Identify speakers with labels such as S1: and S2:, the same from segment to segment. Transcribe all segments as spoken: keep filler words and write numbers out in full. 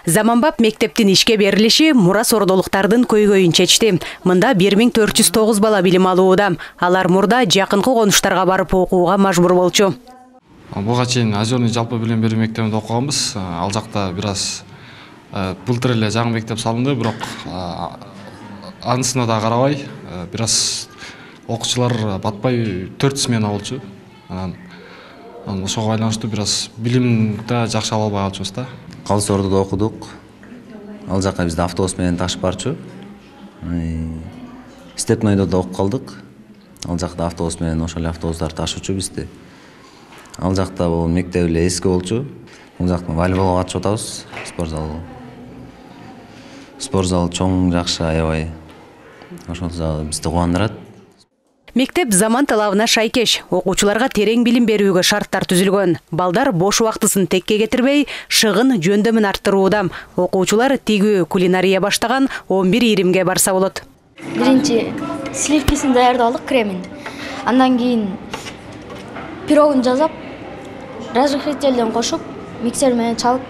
S1: Заманбап мектептин ишке берилиши мурас ордолуктардын көйгөйүн чечти. Мында бир миң төрт жүз тогуз бала билим алууда. Алар мурда жакынкы конуштарга барып окууга мажбур болчу.
S2: Буга чейин Озерный жалпы билим берүү мектебинде окуганбыз. Ал жакта бир аз былтыр эле жаңы мектеп салынды, бирок анысына да карабай, бир аз окуучулар батпай төрт смена болчу. Анан ошого байланыштуу бир аз билимди жакшы ала албай калчубуз да.
S3: Калыс Ордодо окудук. Ал жака бизди автобус менен ташып барчу. Степнойдо да окуп калдык. Ал жакта автобус менен ошол эле автобустар ташуучу бизди. Ал жакта бул мектеп эле эски болчу. Бул жакта волейболго катышып атабыз. Спорт зал. Спорт зал чоң, жакшы, аябай. Ошол зал бизди кубандырат.
S1: Мектеп заман талабына шайкеш, окуучуларга терең билим берүүгө шарттар түзүлгөн. Балдар бош убактысын текке кетирбей, шыгын жөндөмүн арттырууда. Окуучулар тигүү кулинария баштаган он бир иримге барса болот.
S4: Биринчи сливкисин даярдап алдык, кремин. Андан кийин пирогун жасап, разрыхлителден кошуп, миксер менен чалып,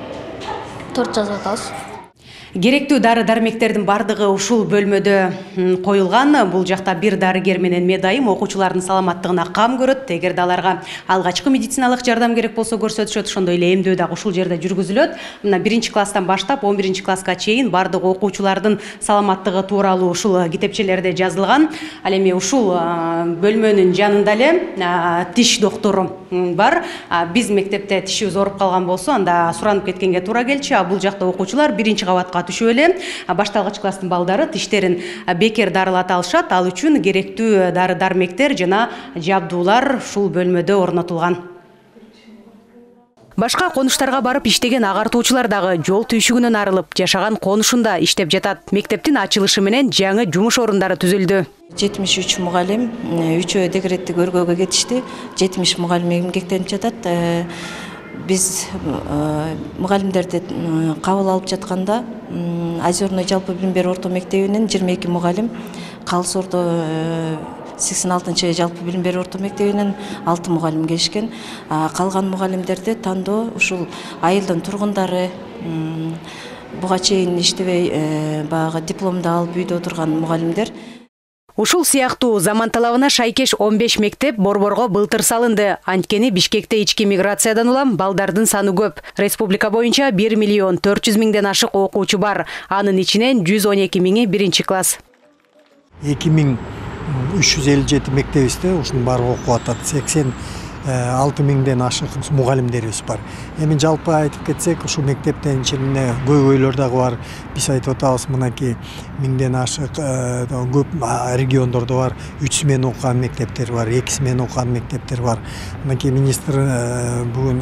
S4: торт жасап атабыз.
S1: Керектүү дары-дармектердин бардыгы ушул бөлмөдө коюлган. Бул жакта бир дарыгер менен медайым окуучулардын саламаттыгына кам көрөт. Эгерде аларга алгачкы медициналык жардам керек болсо көрсөтүшөт, ошондой эле эмдөө дагы ушул жерде жүргүзүлөт. Мына биринчи класстан баштап он биринчи класска чейин бардык окуучулардын саламаттыгы тууралуу ушул китепчелерде жазылган. Ал эми ушул бөлмөнүн жанында эле тиш доктору бар. Биз мектепте тишибиз ооруп калган болсо, анда суранып кеткенге туура келчү. А бул жакта окуучулар биринчи кабатка түшүп эле башталгыч класстын балдары тиштерин бекер дарылата алышат. Ал үчүн керектүү дары-дармектер жана жабдуулар ушул бөлмөдө орнотулган. Башка конуштарга барып иштеген агартуучулар дагы жол түйшүгүнөн арылып, жашаган конушунда иштеп жатат. Мектептин ачылышы менен жаңы жумуш орундары түзүлдү.
S5: жетимиш үч мугалим, үчөө декреттик өргөөгө кетишти. жетимиш мугалим эмгектенип жатат. Биз мугалимдерди кабыл алып жатканда Озерный жалпы билим берүү орто мектебинен жыйырма эки мугалим, Калыс Ордо сексен алтынчы жалпы билим берүү орто мектебинен алты мугалим келишкен. Калган мугалимдерди тандоо ушул айылдын тургундары, буга чейин иштебей баягы дипломду алып үйдө отурган мугалимдер.
S1: Ушул сыяктуу заман талабына шайкеш он беш мектеп Борборго былтыр салынды. Анткени Бишкекте ички миграциядан улам балдардын саны көп. Республика боюнча бир миллион төрт жүз миңден ашык окуучу бар. Анын ичинен жүз он эки миңи биринчи класс.
S6: эки миң үч жүз элүү жети мектебибизде ушунун баары окуп атат. сексен алты миңден ашык мугалимдерибиз бар. Эми жалпы айтып кетсек, ушул мектептен ичинде көйгөйлөр дагы бар. Биз айтып атабыз, мынакей миңден ашык көп региондордо бар. үч смена окуган мектептер бар, эки смена окуган мектептер бар. Мынакей министр бүгүн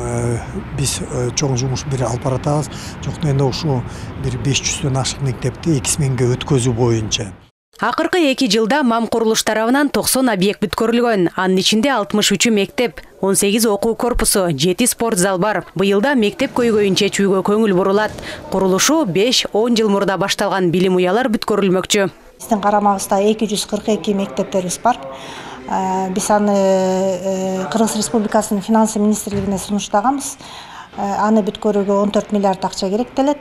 S6: биз чоң жумуш бир алып баратабыз. Жок дегенде ушул бир беш жүздөн ашык мектепти эки сменге өткөзүү боюнча.
S1: Акыркы эки жылда МАМ курулуш тарабынан токсон объект бүткөрүлгөн. Анын ичинде алтымыш үчү мектеп, он сегиз окуу корпусу, жети спорт зал бар. Быйылда мектеп көйгөйүн чечүүгө көңүл бурулат. Курулушу беш он жыл мурда башталган билим уялар бүткөрүлмөкчү.
S7: Биздин карамагыбызда эки жүз кырк эки мектептерибиз бар. Биз аны Кыргыз Республикасынын финансы министрлигине сунуштаганбыз. Аны бүткөрүүгө он төрт миллиард акча керектелет.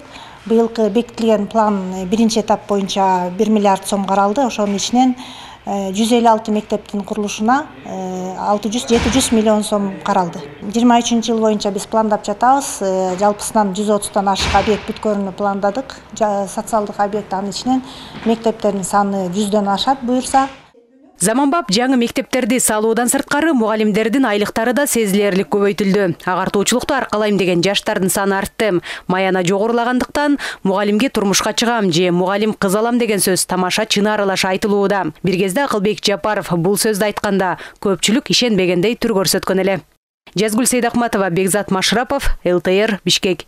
S7: Быйылкы бекитилген план биринчи этап боюнча бир миллиард сом каралды. Ошонун ичинен жүз элүү алты мектептин курулушуна алты жүз жети жүз миллион сом каралды. жыйырма үчүнчү жыл боюнча биз пландап жатабыз. Жалпысынан жүз отуздан ашык объект бүткөрүүнү пландадык. Социалдык объект, анын ичинен мектептердин саны жүздөн ашат буюрса.
S1: Заманбап жаңы мектептерди салуудан сырткары мугалимдердин айлыктары да сезилерлик көбөйтүлдү. Агартуучулукту аркалайм деген жаштардын саны артты. Маяна жогорулагандыктан мугалимге турмушка чыгам же мугалим кыз алам деген сөз тамаша чынарылаш айтылууда. Бир кезде Акылбек Жапаров бул сөздү айтканда көпчүлүк ишенбегендей түр көрсөткөн эле. Жазгүл Сейдахматова, Бекзат Машрапов, эл тэ эр, Бишкек.